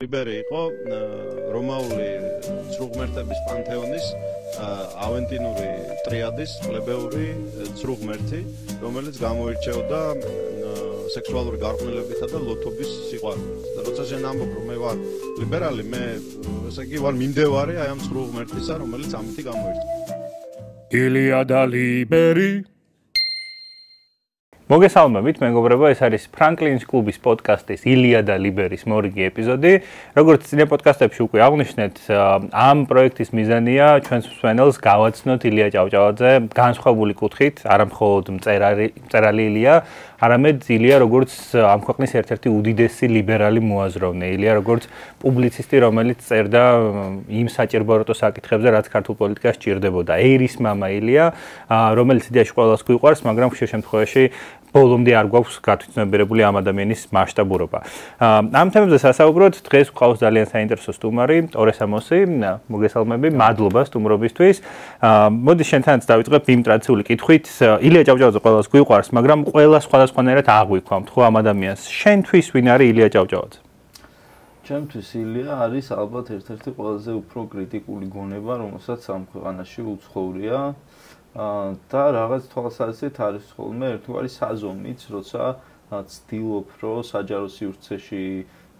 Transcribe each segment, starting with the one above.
ლიბერი იყო რომაული ცრუღმერთების პანთეონის ავენტინური ტრიადის პლებეური ცრუღმერთი, რომელიც გამოირჩეოდა სექსუალური გარყვნილებითა და ლოთობის სიყვარულით. და როცა შენ ამბობ, რომ მე ვარ ლიბერალი, მე ესე იგი ვარ მიმდევარი აი ამ ცრუღმერთისა, რომელიც ამითი გამოირჩევა. ილია და ლიბერი მოგესალმებით, მეგობრებო, ეს არის ფრანკლინის კლუბის პოდკასტის ილია და ლიბერის მორიგი ეპიზოდი. როგორც წინა პოდკასტებში უკვე აღნიშნეთ, ამ პროექტის მიზანია ჩვენს მსმენელს გავაცნოთ ილია ჭავჭავაძე განსხვავებული კუთხით, არა მხოლოდ მწერალი ილია, არამედ ილია როგორც ამ ქვეყნის ერთ-ერთი უდიდესი ლიბერალი მოაზროვნე, ილია როგორც პუბლიცისტი, რომელიც წერდა იმ საჭიროებო საკითხებზე, რაც ქართულ პოლიტიკას ჭირდებოდა. ეირის მამა ილია, რომელიც იდეაში ყველას გვიყვარს, მაგრამ ხშირ შემთხვევაში ბოლომდე არ გვაქვს გათვითცნობიერებული ამ ადამიანის მასშტაბურობა. ამ თემებზე სასაუბროთ დღეს გვყავს ძალიან საინტერესო სტუმარი, ტორე სამოსი, მოგესალმები, მადლობა სტუმრობისთვის. მოდი შენთანაც დავიწყებ იმ ტრადიციული კითხვით. ილია ჭავჭავაძე ყველას გვიყვარს, მაგრამ ყველა სხვადასხვანაირად აღვიქვამთ ხო ამ ადამიანს. შენთვის ვინ არის ილია ჭავჭავაძე? ჩემთვის ილია არის ალბათ ერთ-ერთი ყველაზე უფრო კრიტიკული გონება, რომელსაც ამ ქვეყანაში უცხოვრია. და რაღაც თვალსაზრისით არის ხოლმე ერთგვარი საზომიც, როცა ცდილობ, რომ საჯარო სივრცეში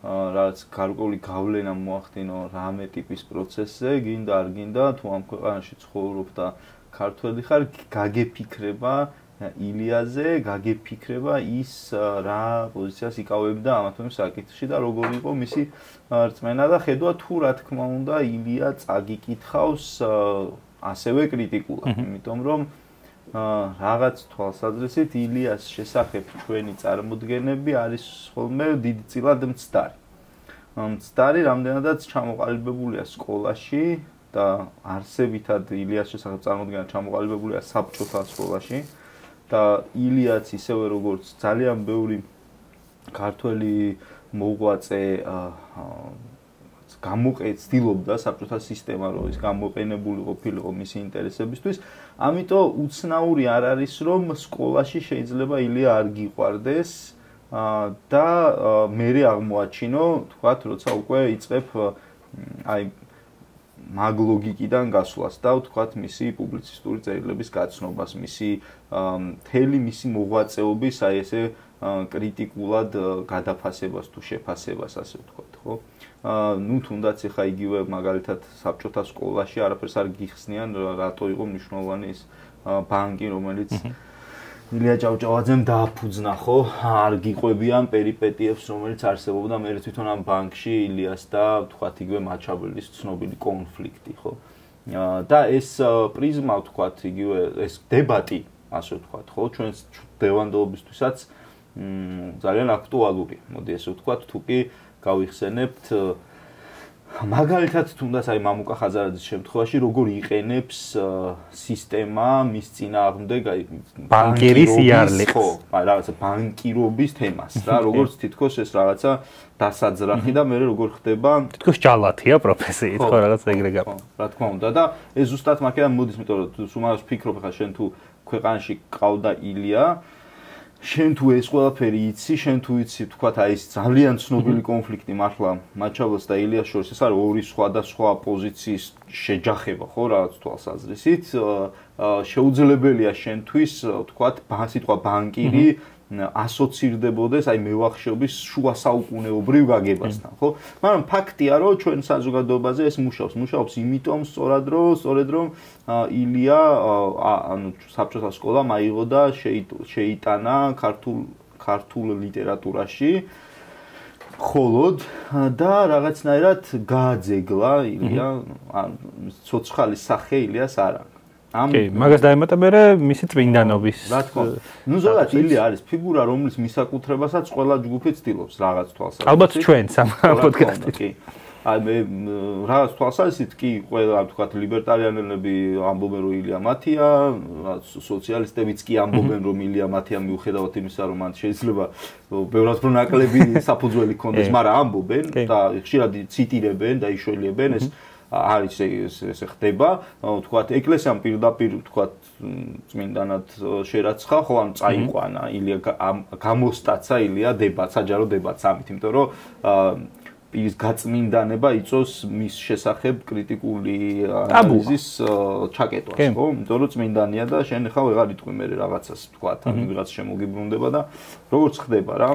რაღაც გარკვეული გავლენა მოახდინო რამე ტიპის პროცესზე, გინდა არ გინდა, თუ ამ ქვეყანაში ცხოვრობ და ქართველი ხარ, გაგეფიქრება ილიაზე, გაგეფიქრება ის რა პოზიციას იკავებდა ამ თემის საკითხში და როგორი იყო მისი რწმენა და ხედვა თუ რა თქმა უნდა ილია წაგიკითხავს ასევე კრიტიკულად, იმიტომ რომ რაღაც თვალსაზრისით ილიას შესახებ ჩვენი წარმოდგენები არის ხოლმე დიდწილად მცდარი. მცდარი რამდენადაც ჩამოყალიბებულია სკოლაში და არსებითად ილიას შესახებ წარმოდგენა ჩამოყალიბებულია საბჭოთა სკოლაში და ილიაც ისევე როგორც ძალიან ბევრი ქართველი მოღვაწე ცდილობდა საბჭოთა სისტემა რომ ის გამოყენებული ყოფილიყო მისი ინტერესებისთვის, ამიტომ უცნაური არ არის რომ სკოლაში შეიძლება ილია არ გიყვარდეს და მერე აღმოაჩინო, თქვათ, როცა უკვე იწყებ აი მაგ ლოგიკიდან გასვლას და თქვათ მისი პუბლიცისტური წერილების გაცნობას, მთელი მისი მოღვაწეობის აი ესე კრიტიკულად გადაფასებას თუ შეფასებას, ასე ვთქვათ, ხო? ნუ თუნდაც ეხა იგივე მაგალითად საბჭოთა სკოლაში არაფერს არ გიხსნიან, რატო იყო მნიშვნელოვანი ის ბანკი, რომელიც ილია ჭავჭავაძემ დააფუძნა, ხო? არ გიყვებიან პერიპეტიებს, რომელიც არსებობდა მე თვითონ ამ ბანკში ილიას და თქვათ იგივე მაჩაბელის ცნობილი კონფლიქტი, ხო? და ეს პრიზმა, თქვათ, იგივე ეს დებატი, ასე ვთქვათ, ხო? ჩვენს დევანდობისთვისაც ძალიან აქტუალურია. მოდი ესე ვთქვათ, თუ კი გავიხსენებთ მაგალითად თუნდაც აი მამუკა ხაზარაძის შემთხვევაში როგორ იყენებს სისტემა მის წინააღმდეგ აი ბანკირის იარლებს, ხო, რაღაცა ბანკირობის თემას რა, როგორც თითქოს ეს რაღაცა დასაძრახი და მე როგორ ხდება თითქოს ჯალათია პროფესიით, ხო, რაღაც ეგრე გავა. რა თქმა უნდა და ეს ზუსტად მაგიდან მოდის, იმიტომ რომ სულ ფიქრობ ხა შენ თუ ქვეყანაში ყავდა ილია, შენ თუ ეს ყველაფერი იცი, შენ თუ იცი, თქვათ, აი ეს ძალიან ცნობილი კონფლიქტი მართლა მაჩაბელს და ილიას შორის, ეს არის ორი სხვადასხვა პოზიციის შეჯახება, ხო, რაღაც თვალსაზრისით, შეუძლებელია შენთვის, თქვათ, სიტყვა ბანკირი ასოცირდებოდეს აი მევახშეობის შუა საუკუნეობრივ გაგებასთან, ხო? მაგრამ ფაქტია, რომ ჩვენ საზოგადოებაზე ეს მუშაობს იმიტომ სწორად რომ ილია ანუ საბჭოთა სკოლამ აიღო და შეიტანა ქართულ ლიტერატურაში ხოლოდ და რაღაცნაირად გააძეგლა ილია, ცოცხალი სახე ილიას არ აქვს. კი, მაგას დაემატა მე მისი წმინდანობის. რა თქმა უნდა. ნუ ზოგადად ილია არის ფიგურა, რომლის მისაკუთრებასაც ყველა ჯგუფი ცდილობს რაღაც თვალსაზრისით. ალბათ ჩვენც ამ პოდკასტით. კი. აი მე რაღაც თვალსაზრისით კი ყველა თქვათ ლიბერტარიანელები ამბობენ რომ ილია მათია, სოციალისტებიც კი ამბობენ რომ ილია მათია მიუხედავად იმისა რომ მან შეიძლება ბევრად უფრო ნაკლები საფუძველი ჰქონდეს, მაგრამ ამბობენ და ხშირად ციტირებენ და იშველიებენ ეს არის ესე ხდება, თქვათ, ეკლესიამ პირდაპირ, თქვათ, წმინდანად შერაცხა, ხო, ან წაიყვანა ილია გამოსტაცა ილია დებატს, საჯარო დებატს ამით, იმიტომ რომ პირის გაწმინდანება იწოს მის შესახებ კრიტიკული ანალიზის ჩაკეტვას, ხო? იმიტომ რომ წმინდანია და შენ ხა ვეღარ იტყვი მე რაღაცას თქვა, ან ვიღაც შემოგიბრუნდება და როგორც ხდება რა.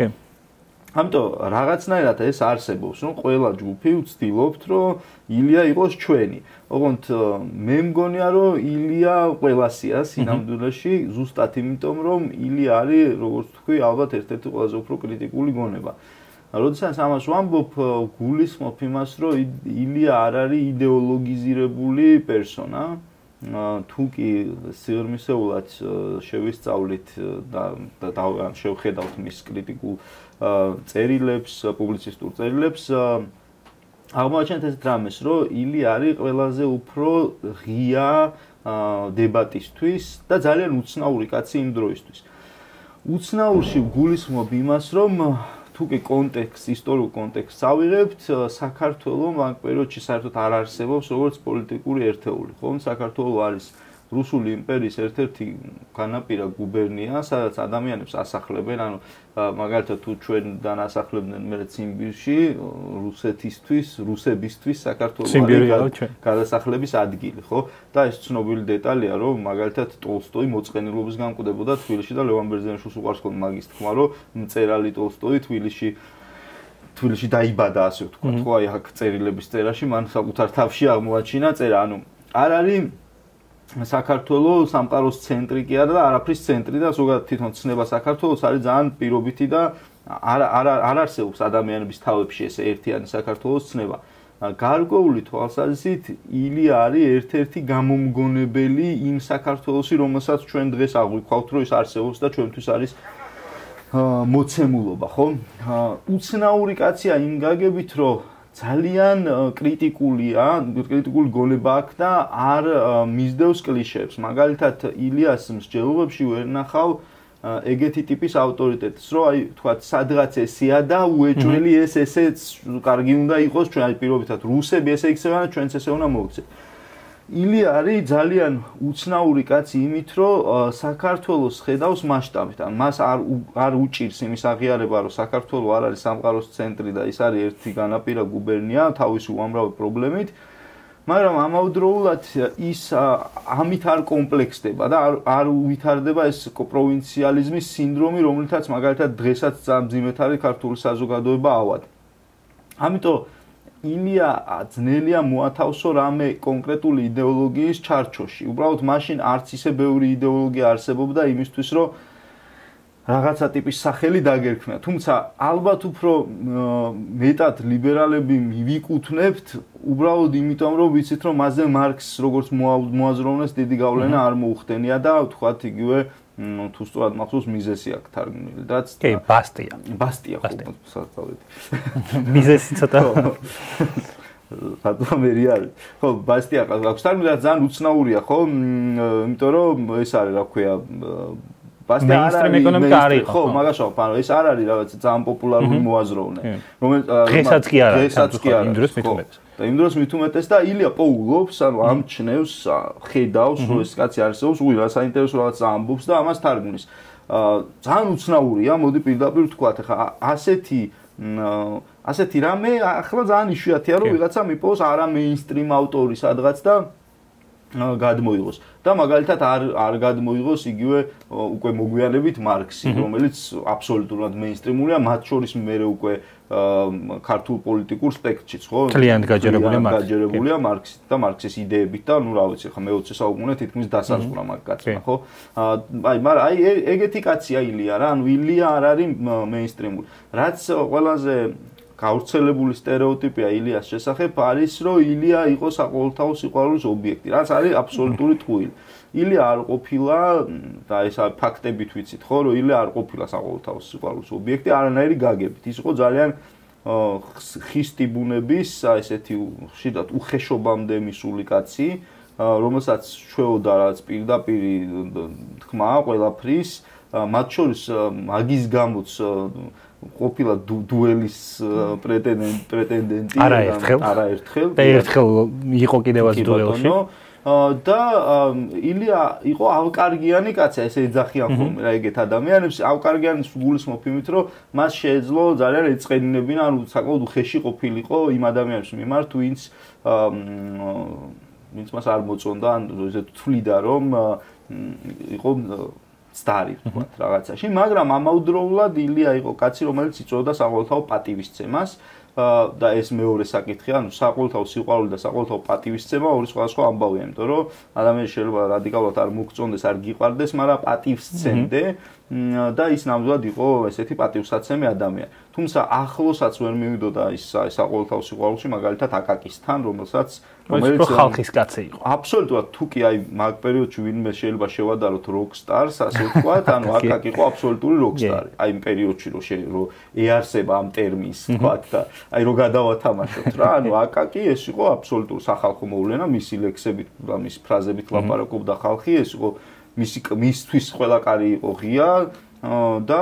ამიტომ რაღაცნაირად ეს არსებობს, რომ ყველა ჯგუფი ვცდილობთ, რომ ილია იყოს ჩვენი. ოღონდ მე მგონია, რომ ილია ყველასია სინამდვილეში, ზუსტად იმიტომ, რომ ილია არის, როგორც თქვი, ალბათ ერთ-ერთი ყველაზე უფრო კრიტიკული გონება. როდესაც ამას ვამბობ, გულისხმობ იმას, რომ ილია არ არის იდეოლოგიზირებული პერსონა. თუ კი სიღრმისეულად შევისწავლით და შევხედავთ მის კრიტიკულ წერილებს, პუბლიცისტურ წერილებს, აღმოაჩენთ ეს რამეს, რომ ილია არის ყველაზე უფრო ღია დებატისთვის და ძალიან უცნაური კაცი იმ დროისთვის. უცნაურში გულისხმობ იმას, რომ თუ კი ისტორიულ კონტექსტს ავიღებთ, საქართველოს ამ პერიოდში საერთოდ არ არსებობს როგორც პოლიტიკური ერთეული, ხო? საქართველოს არის რუსული იმპერიის ერთ-ერთი განაპირა გუბერნია, სადაც ადამიანებს ასახლებენ, ანუ მაგალითად თუ ჩვენთან ასახლებდნენ მე ციმბირში, რუსებისთვის საქართველოს გადასახლების ადგილი, ხო? და ეს ცნობილი დეტალია, რომ მაგალითად ტოლსტოი მოწყენილობის განკვდებოდა თბილისში და ლევან ბერძენიშვილს უყვარს ხოლმე მაგის თქმა, რომ მწერალი ტოლსტოი თბილისში დაიბადა, ასე ვთქვათ, ხო? აი აქ წერილების წერაში მან საკუთარ თავში აღმოაჩინა წერა, ანუ არ არის საქართველოს სამყაროს ცენტრი კი არა და არაფრის ცენტრი და ზოგადად თვითონ ცნება საქართველოს არის ძალიან პირობითი და არ არსებობს ადამიანების თავებში ესე ერთიანი საქართველოს ცნება. გარკვეული თვალსაზრისით ილია არის ერთ-ერთი გამომგონებელი იმ საქართველოსი, რომელსაც ჩვენ დღეს აღვიქვავთ, რომ ის არსებობს და ჩვენთვის არის მოცემულობა, ხო? უცნაური კაცია იმ გაგებით, რომ ძალიან კრიტიკული გონება აქვს და არ მისდევს კლიშეებს. მაგალითად, ილიას მსჯელობებში ვერ ნახავ ეგეთი ტიპის ავტორიტეტს, რომ აი თქვათ, სადღაც ესეა და უეჭველი ესეც კარგი უნდა იყოს, ჩვენ აი პირობითად რუსები ესე იქცევენ და ჩვენც ესე უნდა მოვიქცეთ. ილია არის ძალიან უცნაური კაცი იმით, რომ საქართველოს ხედავს მასშტაბით. ან მას არ უჭირს იმის აღიარება, რომ საქართველოს არ არის სამყაროს ცენტრი და ის არის ერთი განაპირა გუბერნია თავისი უამრავი პრობლემით, მაგრამ ამავდროულად ის ამით არ კომპლექსდება და არ უვითარდება ეს პროვინციალიზმის სინდრომი, რომელთაც მაგალითად დღესაც მძიმედ არის ქართული საზოგადოება ავად. ამიტომ ილია ძნელია მოათავსო რამე კონკრეტული იდეოლოგიის ჩარჩოში. უბრალოდ მაშინ არც ისე ბევრი იდეოლოგია არსებობდა იმისთვის, რომ რაღაცა ტიპის სახელი დაგერქმნა. თუმცა ალბათ უფრო მეტად ლიბერალები მივიკუთვნებთ, უბრალოდ იმიტომ, რომ ვიცით, რომ მასზე მარქსს როგორც მოაზროვნეს დიდი გავლენა არ მოუხდენია და ვთქვათ იგივე თუ სწორად მახსოვს მიზესი აქვს თარგმნილი რაც კი ბასტია ხო საერთოდ მიზესი ცოტა რატომ მერი არის ხო ბასტია აქვს თარგმნილი რაც ძალიან უცნაურია ხო იმიტომ რომ ეს არის რა ქვია ბასტია არის ხო მაგაშო ანუ ეს არ არის რაღაც ძალიან პოპულარული მოაზროვნე რომელიც დღესაც კი არა იმ დროს მithumetes და იმ დროს მithumetes და ილია პოულობს ანუ ამჩნევს ხედავს რომ ეს კაცი არსებობს უი რა საინტერესო რაღაც ამბობს და ამას თარგმნის ძალიან უცნაურია მოდი პირდაპირ ვთქვათ ხა ასეთი რამე ახლა ძალიან იშვიათია რომ ვიღაცა მიპოვოს არა მეინსტრიმ ავტორი სადღაც და გადმოიღოს და მაგალითად არ გადმოიღოს იგივე უკვე მოგვიანებით მარქსი რომელიც აბსოლუტურად მეინსტრიმულია მათ შორის მე უკვე ქართულ პოლიტიკურ სპექტრშიც ხო ძალიან გაჯერებულია მარქსი და მარქსის იდეებით და ნუ რა ვიცი ხა მე-20 საუკუნე თითქმის დასასრულა მაგ კაცმა ხო აი მაგრამ აი ეგეთი კაცია ილია რა ანუ ილია არ არის მეინსტრიმული რაც ყველაზე გავრცელებული სტერეოტიპია ილიას შესახებ არის რომ ილია იყო საყოველთაო სიყვარულის ობიექტი რაც არის აბსოლუტური ტყუილი ილია არ ყოფილა და ეს ფაქტებით ვიცით ხო რომ ილია არ ყოფილა საყოველთაო სიყვარულის ობიექტი არანაირი გაგებით ის იყო ძალიან ხისტი ბუნების ესეთი ხშირად უხეშობამდე მისული კაცი რომელსაც შვეოდა რაც პირდაპირი თქმა ყველაფრის მათ შორის მაგის გამოც ყოფილა დუელის პრეტენდენტი არაერთხელ და ერთხელ იყო კიდევაც დუელში და ილია იყო ავკარგიანი კაცი, ესე ეძახიან ხოლმე რა ეგეთ ადამიანებს. ავკარგიანის გულისხმობ იმით, რომ მას შეეძლო ძალიან ეწყენინებინა, ანუ საკმაოდ უხეში ყოფილიყო იმ ადამიანებს მიმართ, ვინც მას არ მოწონდა, ან ესე თვლიდა, რომ იყო სტარი ვთქვათ რაღაცაში, მაგრამ ამავდროულად ილია იყო კაცი, რომელიც იწვევდა საყოველთაო პატივისცემას და ეს მეორე საკითხია, ანუ საყოველთაო სიყვარული და საყოველთაო პატივისცემა ორი სხვადასხვა ამბავია, იმიტომ რომ ადამიანს შეიძლება რადიკალურად არ მოგწონდეს, არ გიყვარდეს, მაგრამ პატივისცემდე და ის ნამდვილად იყო ესეთი პატივსაცემი ადამიანი. თუმცა ახლოსაც ვერ მივიდოდა ის საყოველთაო სიყვარულში, მაგალითად აკაკისთან, რომელიც ხალხის კაცი იყო. აბსოლუტურად, თუ კი აი მაგ პერიოდში ვინმე შეიძლება შევადაროთ როკსტარს, ასე ვთქვათ, ანუ აკაკი იყო აბსოლუტური როკსტარი. აი იმ პერიოდში რომ ეარსება ამ ტერმინს, ვთქვათ და აი რო გადავათამაშოთ რა, ანუ აკაკი ეს იყო აბსოლუტური სახალხო მოვლენა, მისი ლექსებით და მისი ფრაზებით ლაპარაკობდა ხალხი, ეს იყო მისთვის ყველა კარი იყო ღია და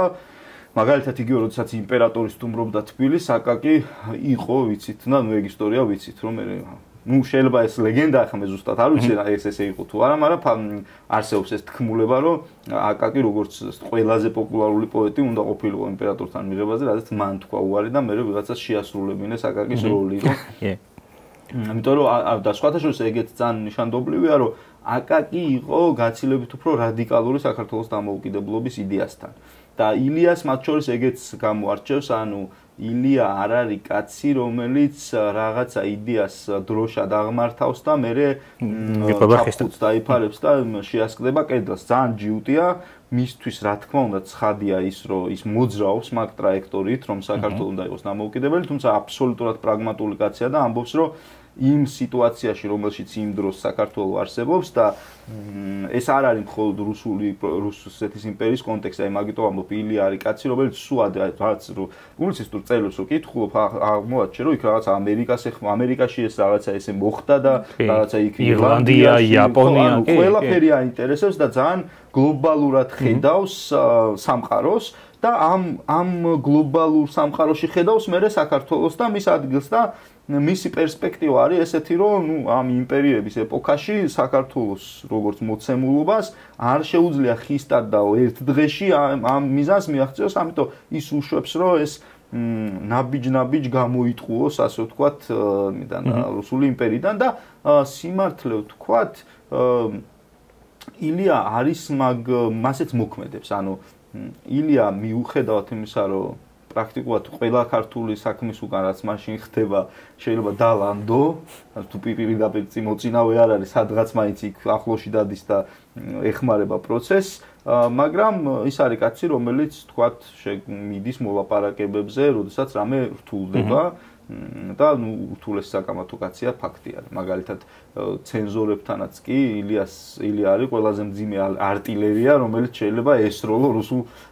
მაგალითად იგივე როდესაც იმპერატორი სტუმრობდა თბილისს, აკაკი იყო, ვიცით, და ნუ ეგ ისტორია ვიცით, რომ ნუ შეიძლება ეს ლეგენდა ახლა მე ზუსტად არ ვიცი ეს ესე იყო თუ არა, მაგრამ არსებობს ეს თქმულება, რომ აკაკი როგორც ყველაზე პოპულარული პოეტი უნდა ყოფილიყო იმპერატორთან მიღებაზე, რადგან მან თქვა უარი და მე ვიღაცას შეასრულებინეს აკაკის როლი, რომ ამიტომ რომ და სხვათა შორის ეგეც ძალიან ნიშანდობლივია, რომ აკაკი იყო გაცილებით უფრო რადიკალური საქართველოს დამოუკიდებლობის იდეასთან. და ილიას მათ შორის ეგეც გამოარჩევს, ანუ ილია არ არის კაცი, რომელიც რაღაცა იდეას დროშად აღმართავს და მერე ჩაფხუტს დაიფარებს და შეასკდება კედელს. ძალიან ჯიუტია, მისთვის რა თქმა უნდა ცხადია ის, რომ ის მოძრაობს მაგ ტრაექტორიით, რომ საქართველოს უნდა იყოს დამოუკიდებელი, თუმცა აბსოლუტურად პრაგმატული კაცია და ამბობს, რომ იმ სიტუაციაში, რომელშიც იმ დროს საქართველოს არსებობს და ეს არ არის მხოლოდ რუსეთის იმპერიის კონტექსტი, აი მაგიტომ ამბობ ილია არის კაცი, რომელიც სუად რაც პუბლიცისტურ წერილებს რო კითხულობ, აღმოაჩენ, რომ იქ რაღაცა ამერიკაში ეს რაღაცა ესე მოხდა და რაღაცა იქ ირლანდია, იაპონია, ყველაფერი აინტერესებს და ძალიან გლობალურად ხედავს სამყაროს და ამ გლობალურ სამყაროში ხედავს მერე საქართველოს და მის ადგილს და მისი პერსპექტივა არის ესეთი, რომ ნუ ამ იმპერიების ეპოქაში საქართველოს როგორც მოცემულობას არ შეუძლია ხისტად და ერთ დღეში ამ მიზანს მიაღწიოს, ამიტომ ის უშვებს, რომ ეს ნაბიჯ გამოიტყუოს, ასე ვთქვათ, რუსული იმპერიიდან და სიმართლე ვთქვათ, ილია არის მასეც მოქმედებს, ანუ ილია მიუხედავად იმისა, რომ პრაქტიკულად ყველა ქართული საქმის უკან რაც მაშინ ხდება შეიძლება დალანდო, თუ პირდაპირ მოწინავე არ არის, სადღაც მაინც იქ ახლოში დადის და ეხმარება პროცესს, მაგრამ ის არის კაცი, რომელიც თქვათ მიდის მოლაპარაკებებზე, როდესაც რამე რთულდება და ნუ ურთულეს საკამათო კაცია ფაქტია. მაგალითად ცენზორებთანაც კი ილია არის ყველაზე მძიმე არტილერია, რომელიც შეიძლება ესროლო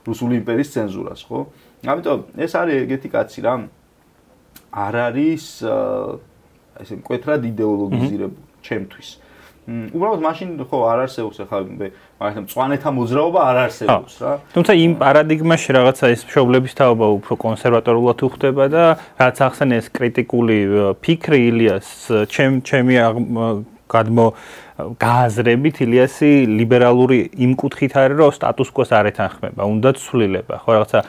რუსული იმპერიის ცენზურას, ხო? ამიტომ ეს არის ეგეთი კაცი რა. არ არის ესე მკვეთრად იდეოლოგიზირებული ჩემთვის. უბრალოდ მაშინ ხო არ არსებობს ახლა მაგალითად მწვანეთა მოძრაობა არ არსებობს რა. თუმცა იმ პარადიგმაში რაღაცა ეს მშობლების თაობა უფრო კონსერვატორულად უხდება და რაც ახსენე ეს კრიტიკული ფიქრი ილიას ჩემი გააზრებით ილიასი ლიბერალური იმ კუთხით არის, რომ სტატუს კვოს არ ეთანხმება, უნდა ცვლილება, ხო რაღაცა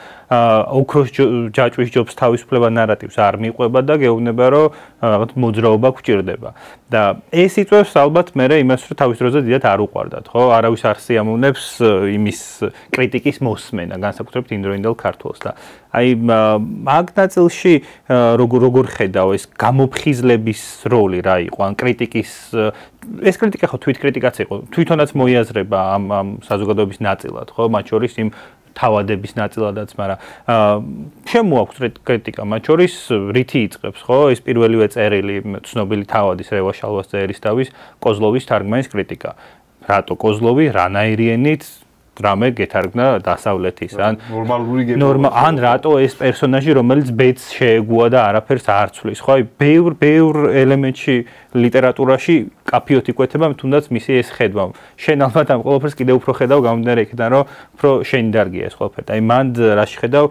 ოქროს ჯაჭვის ჯობს თავისუფლება ნარატივს არ მიყვება და გეუბნება, რომ რაღაც მოძრაობა გვჭირდება. და ეს იწვევს ალბათ მერე იმას, რომ თავის დროზე დიდად არ უყვარდათ, ხო? არავის არ სიამოვნებს იმის კრიტიკის მოსმენა, განსაკუთრებით იმდროინდელ ქართველს და აი მაგ ნაწილში როგორ ხედავ ეს გამოფხიზლების როლი რა იყო, ან კრიტიკის ეს კრიტიკა ხო თვითკრიტიკაც იყო, თვითონაც მოიაზრება ამ საზოგადოების ნაწილად, ხო? მათ შორის იმ თავადების ნაწილადაც, მაგრამ შემოაქვს კრიტიკა, მათ შორის რითი იწყებს, ხო? ეს პირველივე წერილი ცნობილი თავადის რევა შალვას ერისთავის კოზლოვის თარგმანის კრიტიკა. რატო კოზლოვი, რანაირი ენით რამე გეთარგმნა დასავლეთის ან ან რატო ეს პერსონაჟი რომელიც ბედს შეეგუა და არაფერს არ ცვლის ხო აი ბევრ ელემენტში ლიტერატურაში კაფიოთ იკვეთება თუნდაც მისი ეს ხედვა შენ ალბათ ამ ყველაფერს კიდევ უფრო ხედავ გამომდინარე იქიდან რომ უფრო შენი დარგია ეს ყველაფერი აი მანდ რაში ხედავ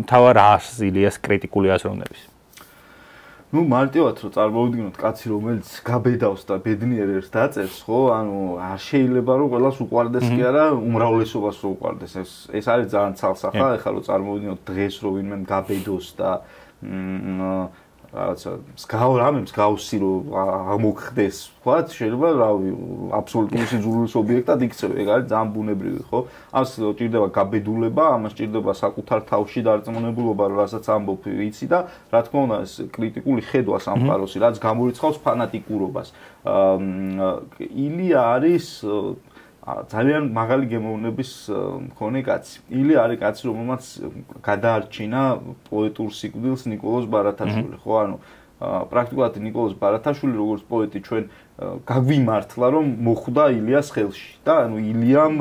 მთავარ აზრს ილიას კრიტიკული აზროვნების ნუ მარტივად რომ წარმოვიდგინოთ კაცი რომელიც გაბედავს და ბედნიერ ერთს დაწერს, ხო? ანუ არ შეიძლება რომ ყველას უყვარდეს კი არა, უმრავლესობას რომ უყვარდეს. ეს არის ძალიან ცალსახა, ეხლა რომ წარმოვიდგინოთ დღეს რომ ვინმე გაბედოს და რაღაცა მსგავსი რომ ამოხდეს, ვთქვათ, შეიძლება რავი, აბსოლუტური სიძულვილის ობიექტად იქცევ, ეგ არის ძალიან ბუნებრივი, ხო? ამას ჭირდება გაბედულება, ამას ჭირდება საკუთარ თავში დარწმუნებულობა, რასაც ამბობ იცი და რა თქმა უნდა, ეს კრიტიკული ხედვა სამყაროსი, რაც გამორიცხავს ფანატიკურობას. ილია არის ძალიან მაღალი გემოვნების მქონე კაცი. ილია არის კაცი, რომელმაც გადაარჩინა პოეტურ სიკვდილს ნიკოლოზ ბარათაშვილი, ხო? ანუ პრაქტიკულად ნიკოლოზ ბარათაშვილი როგორც პოეტი ჩვენ გაგვიმართლა რომ მოხვდა ილიას ხელში და ანუ ილიამ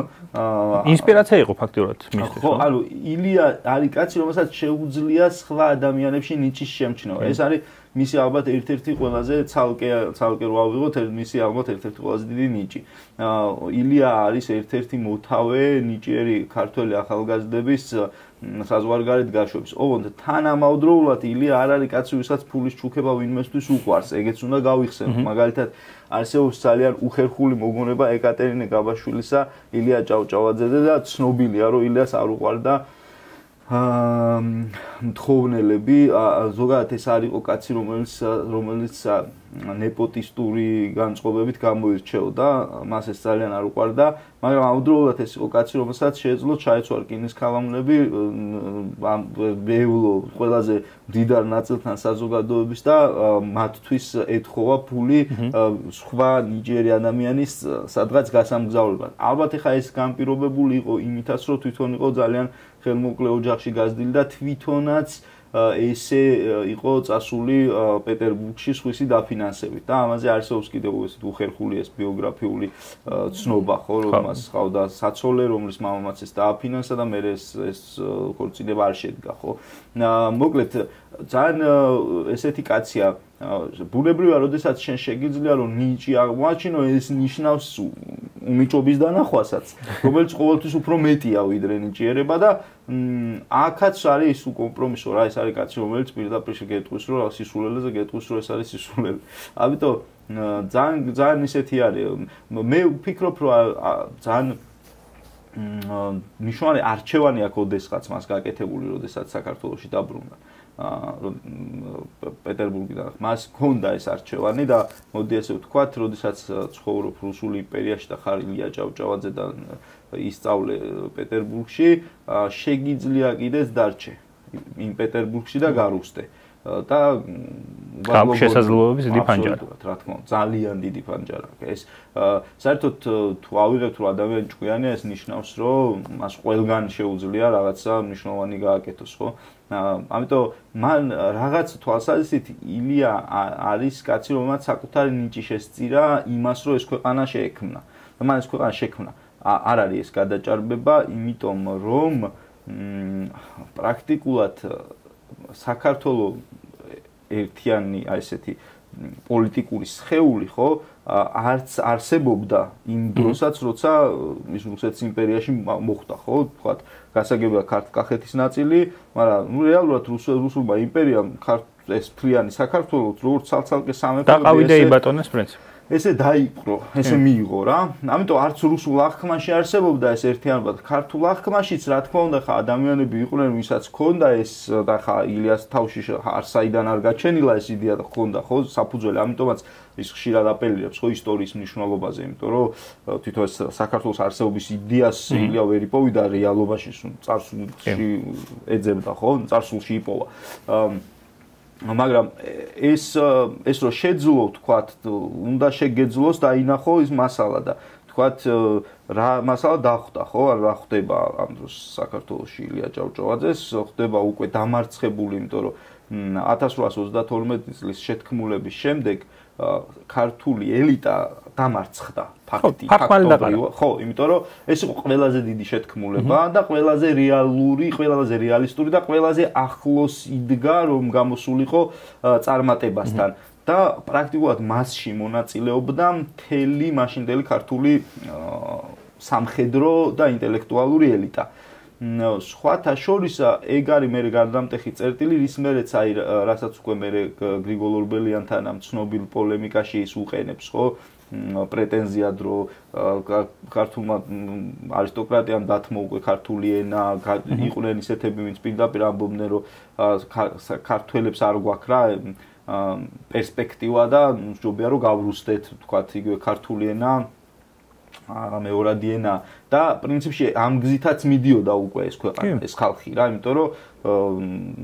ინსპირაცია იყო ფაქტიურად მისთვის. ხო, ანუ ილია არის კაცი, რომელსაც შეუძლია სხვა ადამიანებში ნიჭის შემჩნევა. ეს არის მისი ალბათ ერთ-ერთი ყველაზე ცალკე რო ავიღოთ, მისი ალბათ ერთ-ერთი ყველაზე დიდი ნიჭი. ილია არის ერთ-ერთი მოთავე ნიჭიერი ქართველი ახალგაზრდების საზღვარგარეთ გაშვების. ოღონდ თანამავდროულად ილია არ არის კაცი, ვისაც ფულის ჩუქება ვინმესთვის უყვარს. ეგეც უნდა გავიხსენოთ. მაგალითად, არსებობს ძალიან უხერხული მოგონება ეკატერინე გაბაშვილისა ილია ჭავჭავაძეზე და ცნობილია, რომ ილიას არ უყვარდა მთხოვნელები, ზოგადად ეს არ იყო კაცი, რომელიც ნეპოტისტური განწყობებით გამოირჩეოდა, მას ეს ძალიან არ უყვარდა, მაგრამ ამავდროულად ეს იყო კაცი, რომელსაც შეეძლო ჩაეცვა რკინის ქალამნები ბევლო ყველაზე მდიდარ ნაწილთან საზოგადოების და მათთვის ეთხოვა ფული სხვა ნიჭიერი ადამიანის სადღაც გასამგზავრებლად. ალბათ ეხა ეს განპირობებული იყო იმითაც, რომ თვითონ იყო ძალიან ხელმოკლე ოჯახში გაზრდილი და თვითონაც ესე იყო წასული პეტერბურგში სხვისი დაფინანსებით და ამაზე არსებობს კიდევ ესეთ უხერხული ეს ბიოგრაფიული ცნობა, ხო, რომ მას ჰყავდა საცოლე, რომლის მამამაც ეს დააფინანსა და მე ეს ქორწინება არ შედგა, ხო. მოკლედ ძალიან ესეთი კაცია ბუნებრივია, როდესაც შენ შეგიძლია რომ ნიჭი აღმოაჩინო, ეს ნიშნავს უნიჭობის დანახვასაც, რომელიც ყოველთვის უფრო მეტია ვიდრე ნიჭიერება და აქაც არის ის კომპრომისო რა, ეს არის კაცი, რომელიც პირდაპირ შეგეტყვის, რომ სისულელეზე გეტყვის, რომ ეს არის სისულელე. ამიტომ ძალიან ისეთი არის. მე ვფიქრობ, რომ ძალიან ნიშნავენ არჩევანი აქ ოდესღაც მას გაკეთებული, როდესაც საქართველოში დაბრუნდა. პეტერბურგიდან მას ჰქონდა ეს არჩევანი და მოდი ასე ვთქვათ, როდესაც ცხოვრობ რუსულ იმპერიაში და ხარ ილია ჭავჭავაძე და ისწავლე პეტერბურგში, შეგიძლია კიდეც დარჩე იმ პეტერბურგში და გარუსტე და გაქვს შესაძლებლობების დიდი ფანჯარა. რა თქმა უნდა, ძალიან დიდი ფანჯარა. ეს საერთოდ თუ ავიღებთ რომ ადამიანი ჭკვიანია, ეს ნიშნავს რომ მას ყველგან შეუძლია რაღაცა მნიშვნელოვანი გააკეთოს, ხო? ამიტომ მან რაღაც თვალსაზრისით ილია არის კაცი, რომელმაც საკუთარი ნიჭი შესწირა იმას, რომ ეს ქვეყანა შეექმნა. და მან ეს ქვეყანა შექმნა. არ არის ეს გადაჭარბება, იმიტომ რომ პრაქტიკულად საქართველოს ერთიანი აი ესეთი პოლიტიკური სხეული, ხო, არც არსებობდა იმ დროსაც, როცა ის რუსეთის იმპერიაში მოხვდა, ხო, თქვათ, გასაგებია ქართლ-კახეთის ნაწილი, მაგრამ ნუ რეალურად რუსულმა იმპერიამ ეს მთლიანი საქართველოს როგორც ცალ-ცალკე სამეფო დაყავიდა იბატონეს პრინციპი. ესე დაიპყრო, ესე მიიღო რა. ამიტომ არც რუსულ აღქმაში არსებობდა ეს ერთიანობა. ქართულ აღქმაშიც რა თქმა უნდა ხა ადამიანები იყვნენ, ვისაც ჰქონდა ეს და ხა ილიას თავში არსაიდან არ გაჩენილა ეს იდეა და ჰქონდა ხო საფუძველი. ამიტომაც ის ხშირად აპელირებს ხო ისტორიის მნიშვნელობაზე, იმიტომ რომ თვითონ ეს საქართველოს არსებობის იდეას ილია ვერ იპოვიდა რეალობაში, წარსულში ეძებდა ხო, წარსულში იპოვა. მაგრამ ეს რო შეძლო, თქვათ, უნდა შეგეძლოს და ინახო ის მასალა და თქვათ რა მასალა დახვდა, ხო? რა ხდება ამ დროს საქართველოში ილია ჭავჭავაძეს, ხდება უკვე დამარცხებული, იმიტომ რომ 1832 წლის შეთქმულების შემდეგ ქართული ელიტა დამარცხდა ფაქტობრივად. ხო, იმიტომ რომ ეს იყო ყველაზე დიდი შეთქმულება და ყველაზე რეალური, ყველაზე რეალისტური და ყველაზე ახლოს იდგა, რომ გამოსულიყო წარმატებასთან. და პრაქტიკულად მასში მონაწილეობდა მთელი მაშინდელი ქართული სამხედრო და ინტელექტუალური ელიტა. სხვათა შორის ეგ არის მე გარდამტეხი წერტილი, რის მერეც აი რასაც უკვე მე გრიგოლ ორბელიანთან ამ ცნობილ პოლემიკაში ის უყენებს, ხო? პრეტენზიად რომ ქართულმა არისტოკრატიამ დათმო უკვე ქართული ენა, იყვნენ ისეთები, ვინც პირდაპირ ამბობდნენ რომ ქართველებს არ გვაქვს რა პერსპექტივა და მსჯობია რომ გავრუსდეთ, თქვათ იგივე ქართული ენა მეორადი ენა და პრინციპში ამ გზითაც მიდიოდა უკვე ეს ქვეყანა, ეს ხალხი რა, იმიტომ რომ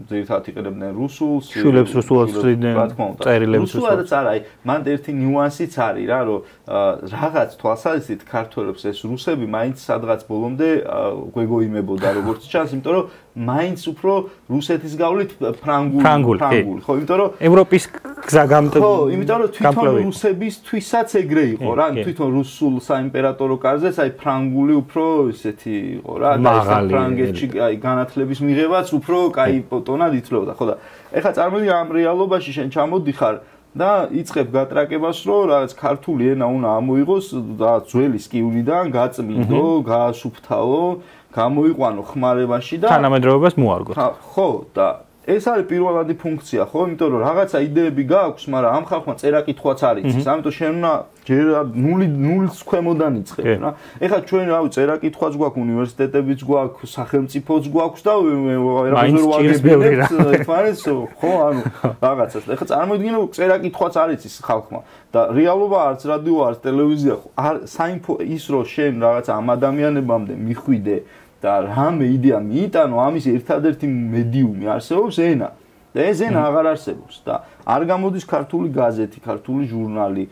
ძირითადად იყენებდნენ რუსულს, შვილებს რუსულად ცდილდნენ, წერილებს რუსულადაც არა, მან ერთი ნიუანსიც არის რა, რომ რაღაც თვალსაზრისით ქართველებს ეს რუსები მაინც სადღაც ბოლომდე გვეგოიმებოდა როგორც ჩანს, იმიტომ რომ მაინც უფრო რუსეთის გავლით ფრანგული, ხო, იმიტომ რომ ევროპის გზა ხო, იმიტომ რომ თვითონ რუსებისთვისაც ეგრე იყო რა, თვითონ რუსულ საიმპერატორო კარზეც აი ფრანგული უფრო ისეთი იყო რა, და ეს ფრანგეთში აი განათლების მიღებაც უფრო კაი ტონად ითვლებოდა, ხო და ეხლა წარმოიდგინე ამ რეალობაში შენ ჩამოდიხარ და იწყებ გატრაკებას, რომ რაღაც ქართული ენა უნდა ამოიღოს და ძველი სკივრიდან გაწმინდო, გაასუფთავო, გამოიყვანო ხმარებაში და თანამედროვეობას მოარგოთ. ხო, და ეს არის პირველადი ფუნქცია, ხო? იმიტომ რომ რაღაცა იდეები გააქვს, მაგრამ ამ ხალხმა წერა-კითხვაც არ იცის. ამიტომ შენ უნდა ჯერ ნულის ქვემოდან იწყებ რა. ეხლა ჩვენ რავი წერა-კითხვაც გვაქვს, უნივერსიტეტებიც გვაქვს, სახელმწიფოც გვაქვს და რაღაცა ვაგებინებთ, ხო, ანუ რაღაცას. ეხლა წარმოიდგინე რომ წერა-კითხვაც არ იცის ხალხმა და რეალობა არც რადიო, არც ტელევიზია, საინფო ის რომ შენ რაღაცა ამ ადამიანებამდე მიხვიდე და რამე იდეა მიიტანო, ამის ერთადერთი მედიუმი არსებობს ენა. და ეს ენა აღარ არსებობს და არ გამოდის ქართული გაზეთი, ქართული ჟურნალი.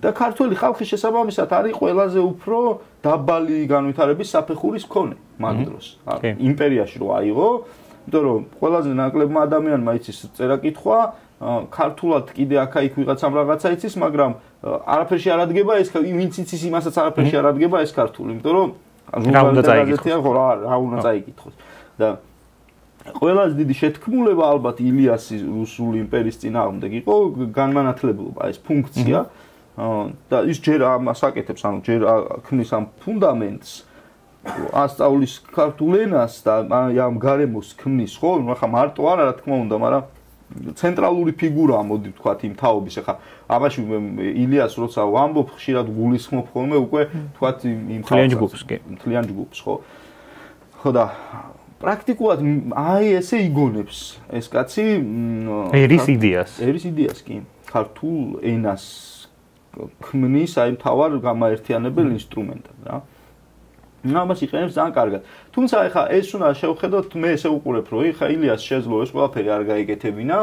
და ქართული ხალხის შესაბამისად არის ყველაზე უფრო დაბალი განვითარების საფეხურის მქონე მაგ დროს. იმპერიაში რო აიღო, იმიტომ რომ ყველაზე ნაკლებმა ადამიანმა იცის წერა-კითხვა, ქართულად კიდე აქა-იქ ვიღაცამ რაღაცა იცის, მაგრამ არაფერში არ ადგება ეს, ვინც იცის იმასაც არაფერში არ ადგება ეს ქართული, იმიტომ რომ რა უნდა წაიკითხოს? ხო, რა უნდა წაიკითხოს. და ყველაზე დიდი შეთქმულება ალბათ ილიასის რუსული იმპერიის წინააღმდეგ იყო განმანათლებლობა, ეს ფუნქცია. და ის ჯერ ამას აკეთებს, ანუ ჯერ ქმნის ამ ფუნდამენტს, ასწავლის ქართულ ენას და ამ გარემოს ქმნის, ხო? ახლა მარტო არა, რა თქმა უნდა, მაგრამ ცენტრალური ფიგურაა, მოდი ვთქვათ, იმ თაობის. ახლა ამაში ილიას როცა ვამბობ, ხშირად გულისხმობ ხოლმე უკვე ვთქვათ იმ მთლიან ჯგუფს, ხო? ხო და პრაქტიკულად აი ესე იგონებს ეს კაცი ერის იდეას კი ქართულ ენას ქმნის აი მთავარ გამაერთიანებელ ინსტრუმენტად რა. ამას იყენებს ძალიან კარგად. თუმცა ეხა ეს უნდა შევხედოთ, მე ესე უყურებ, რომ ეხა ილიას შეძლო ეს ყველაფერი არ გაიგეთებინა.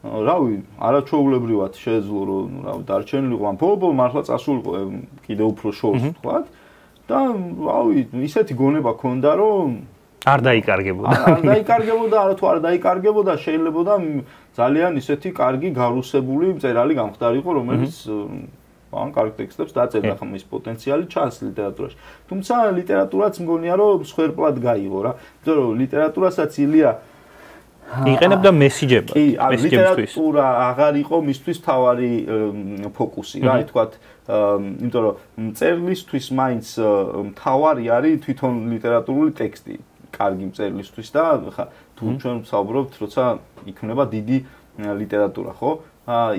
რავი, არაჩვეულებრივად შეძლო, რომ რავი, დარჩენილიყო ამ ბოლო მართლა წასულიყო კიდე უფრო შორს ვთქვათ. და რავი, ისეთი გონება ქონდა, რომ არ დაიკარგებოდა. არ დაიკარგებოდა, არა თუ არ დაიკარგებოდა, შეიძლებოდა ძალიან ისეთი კარგი გარუსებული მწერალი გამხდარიყო, რომელიც ან კარგ ტექსტებს დაწერდა, ხომ ის პოტენციალი ჩანს ლიტერატურაში. თუმცა ლიტერატურაც მგონია რომ სხერპლად გაიღო რა. იმიტომ რომ ლიტერატურასაც ილია იყენებდა მესიჯებად. კი, ლიტერატურა აღარ იყო მისთვის თავარი ფოკუსი რა, ითქვათ, იმიტომ რომ მწერლისთვის მაინც თავარი არის თვითონ ლიტერატურული ტექსტი. კარგი მწერლისთვის და ხა თუ ჩვენ ვსაუბრობთ, როცა იქნება დიდი ლიტერატურა, ხო?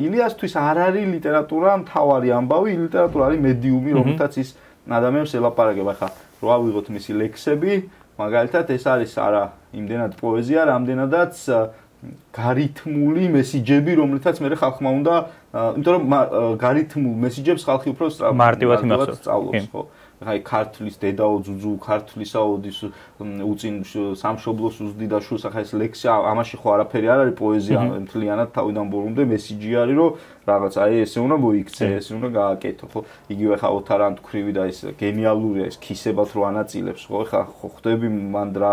ილიასთვის არ არის ლიტერატურა მთავარი ამბავი, ლიტერატურა არის მედიუმი, რომელთაც ის ადამიანს ელაპარაკება. ხა რო ავიღოთ მისი ლექსები, მაგალითად ეს არის არა იმდენად პოეზია, რამდენადაც გარითმული მესიჯები, რომლითაც მე ხალხმა უნდა, იმიტომ რომ გარითმულ მესიჯებს ხალხი უფრო მარტივად სწავლობს, ხო? აი ქართლის დედაო ძუძუ, ქართლისაოდის უწინ სამშობლოს უზდი და შულს, ახლა ეს ლექსი ამაში ხო არაფერი არ არის პოეზია, მთლიანად თავიდან ბოლომდე მესიჯი არის, რომ რაღაც აი ესე უნდა მოიქცე, ესე უნდა გააკეთო, ხო? იგივე ხა ოთარან თქვრივი და ეს გენიალურია, ეს ქისებად რო ანაწილებს, ხო? ხა ხვდები მან რა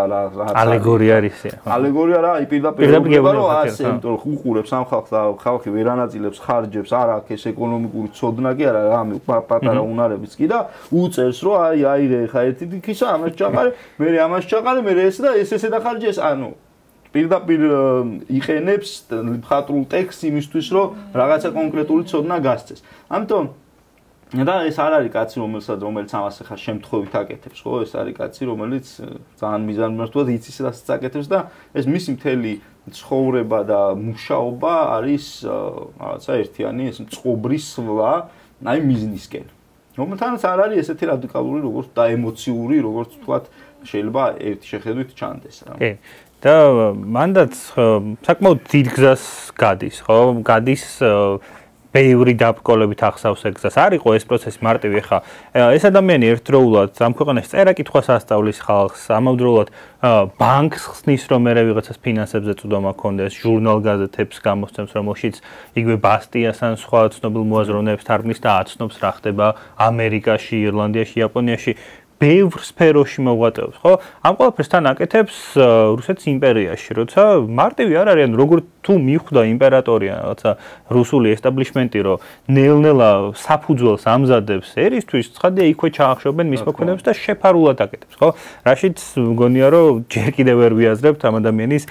ალეგორია არის. ალეგორია რა, აი პირდაპირ რომ ასე, იმიტომ რომ უყურებს ამ ხალხს და ხალხი ვერ ანაწილებს ხარჯებს, არა აქ ეს ეკონომიკური ცოდნა კი არა, რამე პატარა უნარებიც კი და უწევს რომ აი რე ხა ერთი დიქისა ამას ჩაყარე, მე ამას ჩაყარე, მე ეს და ესე დახარჯეს, ანუ პირდაპირ იყენებს მხატვრულ ტექსტს იმისთვის, რომ რაღაცა კონკრეტული ცოდნა გასცეს. ამიტომ და ეს არ არის კაცი, რომელიც ამას ახლა შემთხვევით აკეთებს, ხო? ეს არის კაცი, რომელიც ძალიან მიზანმიმართულად იცის რასაც აკეთებს და ეს მისი მთელი ცხოვრება და მუშაობა არის რაღაცა ერთიანი ეს წყობრის სვლა, აი მიზნისკენ. რომელთანაც არ არის ესეთი რადიკალური, როგორც და ემოციური, როგორც ვთქვათ, შეიძლება ერთი შეხედვით ჩანდეს რა. კი. და მანდაც საკმაოდ დიდ გზას გადის, ხო? გადის ბევრი დაბრკოლებით ახსავს ეგ გზას. არ იყო ეს პროცესი მარტივი, ხა ეს ადამიანი ერთდროულად ამ ქვეყანაში წერა-კითხვას ასწავლის ხალხს, ამავდროულად ბანკს ხსნის, რომ მერე ვიღაცას ფინანსებზე წვდომა ქონდეს, ჟურნალ-გაზეთებს გამოსცემს, რომელშიც იგივე ბასტიას ან სხვა ცნობილ მოაზროვნეებს თარგმნის და აცნობს რა ხდება ამერიკაში, ირლანდიაში, იაპონიაში. ბევრ სფეროში მოღვაწეობს, ხო? ამ ყველაფერს თან აკეთებს რუსეთის იმპერიაში, როცა მარტივი არ არის, ანუ როგორ თუ მიხვდა იმპერატორია, რაღაცა რუსული ესტაბლიშმენტი, რომ ნელ-ნელა საფუძველს ამზადებს ერისთვის, ცხადია იქვე ჩაახშობენ მის მოქმედებას და შეფარულად აკეთებს, ხო? რაშიც მგონია, რომ ჯერ კიდევ ვერ ვიაზრებთ ამ ადამიანის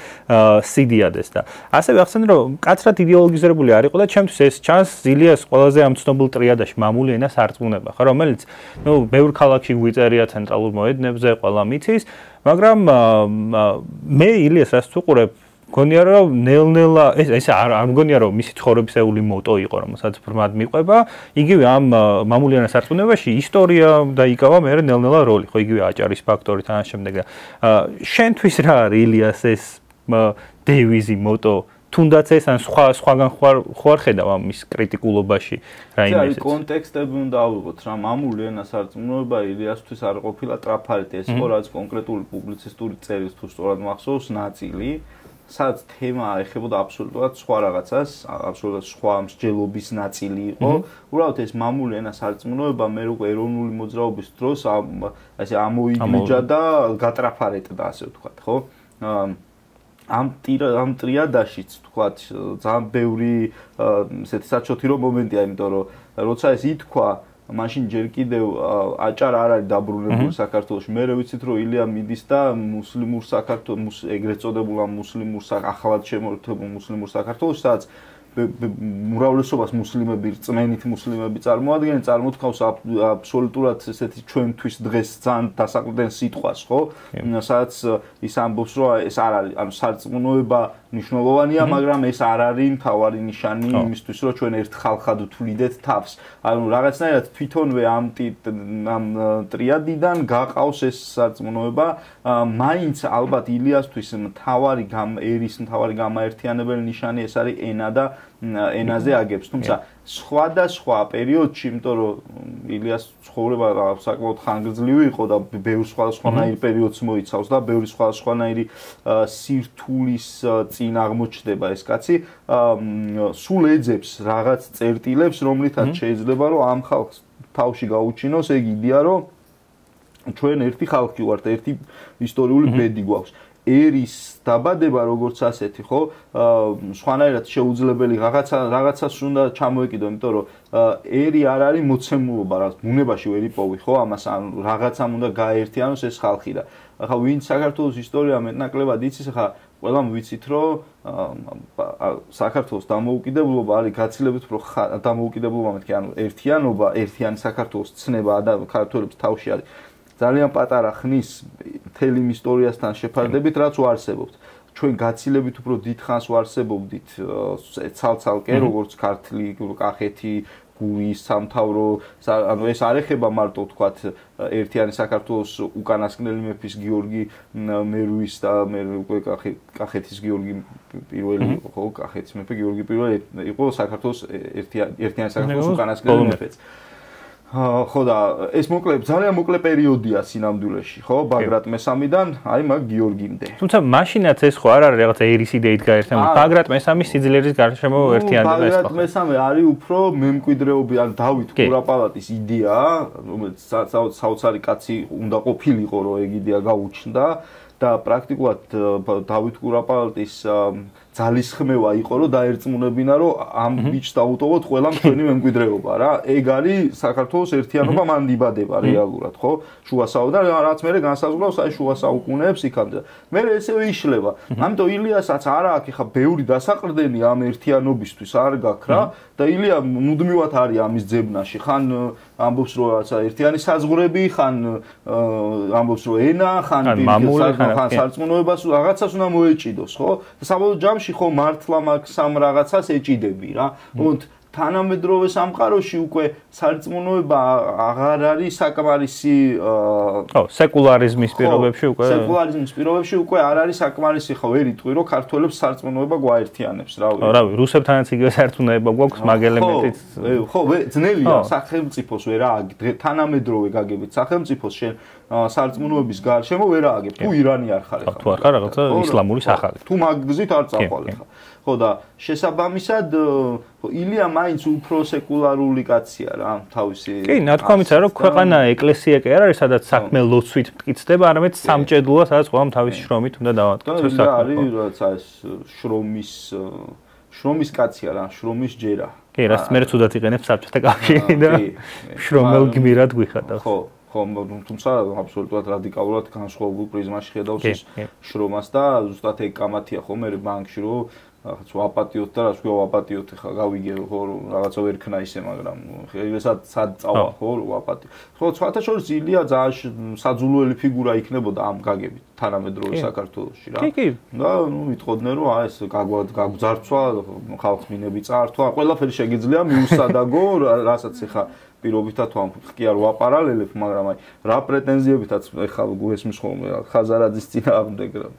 სიდიადეს და ასევე ახსენე, რომ კაცრად იდეოლოგიზებული არ იყო და ჩემთვის ეს ჩანს ილიას ყველაზე ამ ცნობილ ტრიადაში მამული ენას არწმუნება, ხო, რომელიც ნუ ბევრ ქალაქში გვიწერია ცენტრალურ მოედნებზე, ყველა მიცის, მაგრამ მე ილიას რაც ვუყურებ, მგონია რომ ნელ-ნელა ეს არ მგონია რომ მისი ცხოვრებისეული მოტო იყო, რომელსაც ბრმად მიყვება, იგივე ამ მამულიანას არწმუნებაში ისტორია დაიკავა მე ნელ-ნელა როლი, ხო, იგივე აჭარის ფაქტორი თან შემდეგ და შენთვის რა არის ილიას ეს დევიზი, მოტო თუნდაც ეს ან სხვაგან ხوار ხედავ ამის კრიტიკულობაში რაიმეს. ეს კონტექსტები უნდა ავიღოთ რა მამული ენას არწმუნობა ილიასთვის არ ყოფილა ტრაფარიტი ეს იყო რაც კონკრეტული პუბლიცისტური წერის თუ სწორად მახსოვს ნაწილი სადაც თემა ეხებოდა აბსოლუტურად სხვა რაღაცას, აბსოლუტურად სხვა მსჯელობის ნაწილი იყო. უბრალოდ ეს მამული ენას არწმუნობა მე უკვე ეროვნული მოძრაობის დროს ასე ამოიგრიჯა და გატრაფარეტდა ასე ვთქვათ, ხო? ამ ტრიადაშიც ვთქვათ ძალიან ბევრი ესეთი საჩოთირო მომენტია, იმიტომ რომ როცა ეს ითქვა, მაშინ ჯერ კიდევ აჭარა არ არის დაბრუნებული საქართველოში. მე ვიცით რომ ილია მიდის და მუსლიმურ საქართველოს ეგრეთ წოდებულ მუსლიმურ ახლად შემოერთებულ მუსლიმურ საქართველოს, სადაც მრავლესობას მუსლიმები, რწმენით მუსლიმები წარმოადგენენ, წარმოთქავს აბსოლუტურად ესეთი ჩვენთვის დღეს ძალიან დასაყრდენ სიტყვას, ხო? სადაც ის ამბობს, რომ ეს არ არის, ანუ სარწმუნოება მნიშვნელოვანია, მაგრამ ეს არ არის მთავარი ნიშანი იმისთვის, რომ ჩვენ ერთ ხალხად ვთვლიდეთ თავს. ანუ რაღაცნაირად თვითონვე ამ ტრიადიდან გაყავს ეს სარწმუნოება, მაინც ალბათ ილიასთვის მთავარი მთავარი გამაერთიანებელი ნიშანი ეს არის ენა და ენაზე აგებს, თუმცა სხვადასხვა პერიოდში, იმიტომ რომ ილიას ცხოვრება საკმაოდ ხანგრძლივი იყო და ბევრ სხვადასხვანაირ პერიოდს მოიცავს და ბევრი სხვადასხვანაირი სირთულის წინ აღმოჩნდება ეს კაცი, სულ ეძებს რაღაც წერტილებს, რომლითაც შეიძლება რომ ამ ხალხს თავში გაუჩინოს ეგ იდეა, რომ ჩვენ ერთი ხალხი ვართ, ერთი ისტორიული ბედი გვაქვს. ერის დაბადება როგორც ასეთი, ხო? სხვანაირად შეუძლებელი რაღაცას უნდა ჩამოეკიდო, იმიტომ რომ ერი არ არის მოცემულობა, რაც ბუნებაში ვერ იპოვი, ხო? ამას ან რაღაცამ უნდა გააერთიანოს ეს ხალხი და ახლა ვინც საქართველოს ისტორია მეტნაკლებად იცის, ახლა ყველამ ვიცით, რომ საქართველოს დამოუკიდებლობა არის გაცილებით უფრო დამოუკიდებლობა მეთქი, ანუ ერთიანობა, ერთიანი საქართველოს ცნება და ქართველებს თავში არის ძალიან პატარა ხნის მთელი იმ ისტორიასთან შეფარდებით, რაც ვარსებობთ. ჩვენ გაცილებით უფრო დიდ ხანს ვარსებობდით ცალ-ცალკე, როგორც ქართლი, კახეთი, გურის სამთავრო, ანუ ეს არ ეხება მარტო ვთქვათ ერთიანი საქართველოს უკანასკნელი მეფის გიორგი მერუის და მე უკვე კახეთის გიორგი პირველი იყო, ხო, კახეთის მეფე გიორგი პირველი იყო საქართველოს ერთიანი საქართველოს უკანასკნელი მეფეც. ხო და ეს ძალიან მოკლე პერიოდია სინამდვილეში, ხო, ბაგრატ მესამიდან, აი მაგ გიორგიმდე. თუმცა მაშინაც ეს ხო არ არის რაღაცა ერის იდეით გაერთიანებული. ბაგრატ მესამის სიძლიერის გარშემო ერთიანდება ეს ხო. ბაგრატ მესამე არის უფრო მემკვიდრეობი, ან დავით კურაპალატის იდეა, რომელიც საოცარი კაცი უნდა ყოფილიყო, რომ ეგ იდეა გაუჩნდა და პრაქტიკულად დავით კურაპალატის ძალისხმევა იყო, რომ დაერწმუნებინა, რომ ამ ბიჭს დაუტოვოთ ყველამ ჩვენი მემკვიდრეობა რა. ეგ არის საქართველოს ერთიანობა მან იბადება რეალურად, ხო? შუა საუკუნეებში და რაც მე განსაზღვრავს აი შუა საუკუნეებს იქამდე. მე ესევე იშლება. ამიტომ ილიასაც არ აქვს ხა ბევრი დასაყრდენი ამ ერთიანობისთვის არ გაქვს რა და ილია მუდმივად არის ამის ძებნაში. ხან ამბობს რომ რაცა ერთიანი საზღვრები, ხან ამბობს რომ ენა, ხან სარწმუნოებას რაღაცას უნდა მოეჭიდოს, ხო? და საბოლოო ჯამში ხო მართლა მაგ სამ რაღაცას ეჭიდები რა. თუმცა თანამედროვე სამყაროში უკვე სარწმუნოება აღარ არის საკმარისი სეკულარიზმის პირობებში უკვე არ არის საკმარისი ხო ვერ იტყვი რომ ქართველებს სარწმუნოება გვაერთიანებს რავი რუსებთანაც იგივე საერთუნეება გვაქვს მაგ ელემენტით ხო ძნელია სახელმწიფოს ვერ ააგებ თანამედროვე გაგებით სახელმწიფოს შენ სარწმუნოების გარშემო ვერ ააგებ თუ ირანი არ ხარ თუ არ ხარ რაღაცა ისლამური სახალი თუ მაგ გზით არ წავალ ხა ხო და შესაბამისად ილია მაინც უფრო სეკულარული კაცია რა თავისი კი ნათქვამიცა რომ ქვეყანა ეკლესია კი არ არის სადაც საქმე ლოცვით მტკიცდება არამედ სამჭედლოა სადაც ყველამ თავისი შრომით უნდა დავამტკიცოს საქმე არის რაცა ეს შრომის კაცია რა შრომის ჯერა კი რაც მე ცუდად იყენებს საბჭოთა კავშირი და შრომელ გმირად გვიხატავს ხო თუმცა აბსოლუტურად რადიკალურად განსხვავებულ პრიზმაში ხედავს ის შრომას და ზუსტად ეგ კამათია ხო მე ბანკში რომ რაღაც ვაპატიოთ და რაც ქვია ვაპატიოთ ხა გავიგე ხო რაღაცა ვერ ქნა ისე მაგრამ სად წავა ხო ვაპატი ხო სხვათა შორის ილია ძალიან საძულველი ფიგურა იქნებოდა ამ გაგებით თანამედროვე საქართველოში რა და ვიტყოდნენ რომ ეს გაგვძარცვა ხალხს მინები წაართვა ყველაფერი შეგიძლია მიუსადაგო რასაც ხა პირობითად ვამ კი არ ვაპარალელებ მაგრამ აი რა პრეტენზიებითაც ხა გუესმის ხოლმე ხაზარაძის წინააღმდეგ რა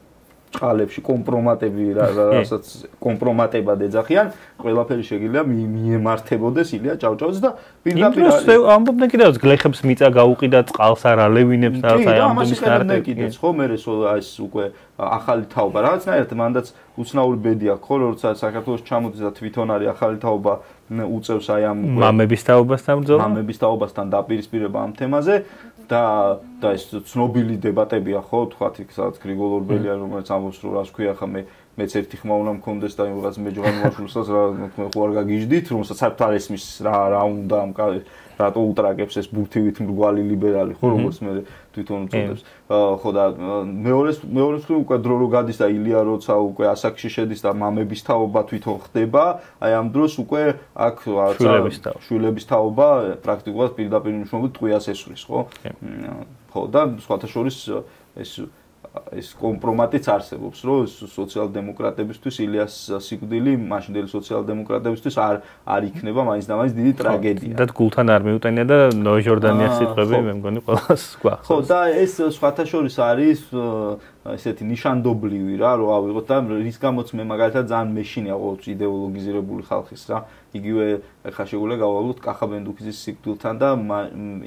ყალებში კომპრომატები რასაც კომპრომატებად ეძახიან ყველაფერი შეგიძლია მიემართებოდეს ილია ჭავჭავაძეს და პირდაპირ ამბობდნენ კიდევ გლეხებს მიწა გაუყიდა წყალს არა ლევინებს და აი ამბობდნენ კიდევ კიდეც ხო მე ეს უკვე ახალი თაობა რაღაცნაირად მანდაც უცნაური ბედი აქვს ხო როცა საქართველოს ჩამოდის და თვითონ არის ახალი თაობა უწევს აი ამ მამების თაობასთან ბრძოლა მამების თაობასთან დაპირისპირება ამ თემაზე და ეს ცნობილი დებატებია ხო თქვათ იქ სადაც გრიგოლ ორბელია რომელიც ამბობს რომ რას ქვია ხა მეც ერთი ხმა უნდა მქონდეს და იმას მეჯღან მოაშულსაც რა ხო არ გაგიჟდით რომელსაც საერთოდ არ ესმის რა უნდა ამ რატო უტრაგებს ეს ბურთივით მრგვალი ლიბერალი ხო როგორც მე თვითონ უწოდებს ხო და მეორეს უკვე დრო რო გადის და ილია როცა უკვე ასაკში შედის და მამების თაობა თვითონ ხდება აი ამ დროს უკვე აქ შვილების თაობა პრაქტიკულად პირდაპირ მნიშვნელობით ტყვიას ესვრის ხო და სხვათა შორის ეს კომპრომატიც არსებობს რომ სოციალ-დემოკრატებისთვის ილიას სიკვდილი მაშინდელი სოციალ-დემოკრატებისთვის არ იქნება მაინც და მაინც დიდი ტრაგედია და გულთან არ მიუტენია და ნოე ჟორდანიას სიტყვები მე მგონი ყველას გვახსოვს ხო და ეს სხვათა შორის არის ესეთი ნიშანდობლივი რა რომ ავიღოთ და რის გამოც მე მაგალითად ძალიან მეშინია ყოველთვის იდეოლოგიზირებული ხალხის რა იგივე ხა შეგვიძლია გავავლოთ კახა ბენდუქიძის სიკვდილთან და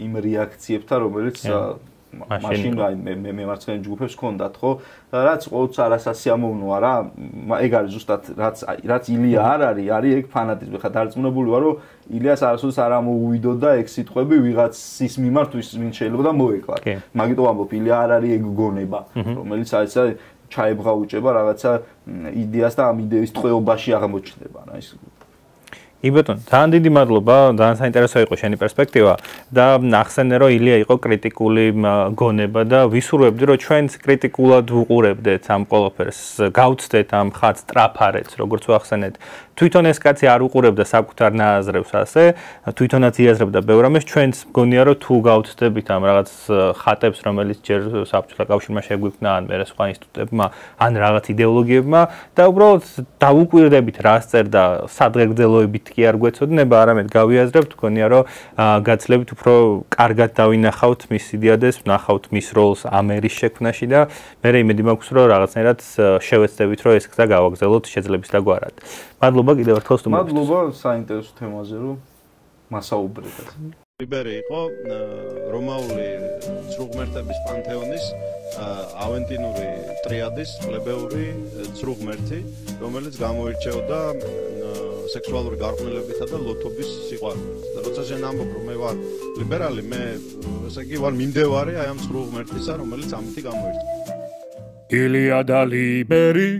იმ რეაქციებთან რომელიც მაშინ აი მე მარცხენა ჯგუფებს ჰქონდათ ხო რაც ყოველთვის არასასიამოვნოა რა ეგ არის ზუსტად რაც ილია არ არის ეგ ფანატიზმი ხა დარწმუნებული ვარ რომ ილიას არასოდეს არ ამოუვიდო და ეგ სიტყვები ვიღაცის მიმართ ვინ შეიძლება და მოეკლათ მაგიტო ამბობ ილია არ არის ეგ გონება რომელიც აი ჩაებღაუჭება რაღაცა იდეას და ამ იდეის ტყვეობაში აღმოჩნდება რა ის იბატონ, ძალიან დიდი მადლობა, ძალიან საინტერესო იყო შენი პერსპექტივა და ახსენე რომ ილია იყო კრიტიკული გონება და ვისურვებდი რომ ჩვენც კრიტიკულად ვუყურებდეთ ამ ყველაფერს, გავცდეთ ამ ხაც ტრაფარეთს, როგორც ვახსენეთ. თვითონ ეს კაცი არ უყურებდა საკუთარ ნააზრევს ასე, თვითონაც იაზრებდა ბევრ რამეს, ჩვენც მგონია რომ თუ გავცდებით ამ რაღაც ხატებს, რომელიც ჯერ საბჭოთა კავშირმა შეგვიქმნა ან მერე სხვა ინსტიტუტებმა, ან რაღაც იდეოლოგიებმა და უბრალოდ დავუკვირდებით რას წერდა სადღეგრძელოებით კი არ გვეცოდნება, არამედ გავიაზრებთ, მგონია რომ გაცლებით უფრო კარგად დავინახავთ მის იდეადეს, ვნახავთ მის როლს ამერის შექმნაში და მე იმედი მაქვს რომ რაღაცნაირად შევეცდებით რომ ეს გზა გავაგრძელოთ შეძლების დაგვარად. მადლობა კიდევ ერთხელ სტუმრობისთვის. მადლობა საინტერესო თემაზე რომ მასაუბრეთ. ლიბერი იყო რომაული ცრუღმერთების პანთეონის ავენტინური ტრიადის პლებეური ცრუღმერთი, რომელიც გამოირჩეოდა სექსუალური გარყვნილებითა და ლოთობის სიყვარულით. და როცა შენ ამბობ რომ მე ვარ ლიბერალი, მე ესე იგი ვარ მიმდევარი აი ამ ცრუღმერთისა, რომელიც ამით გამოირჩევა. ილია და ლიბერი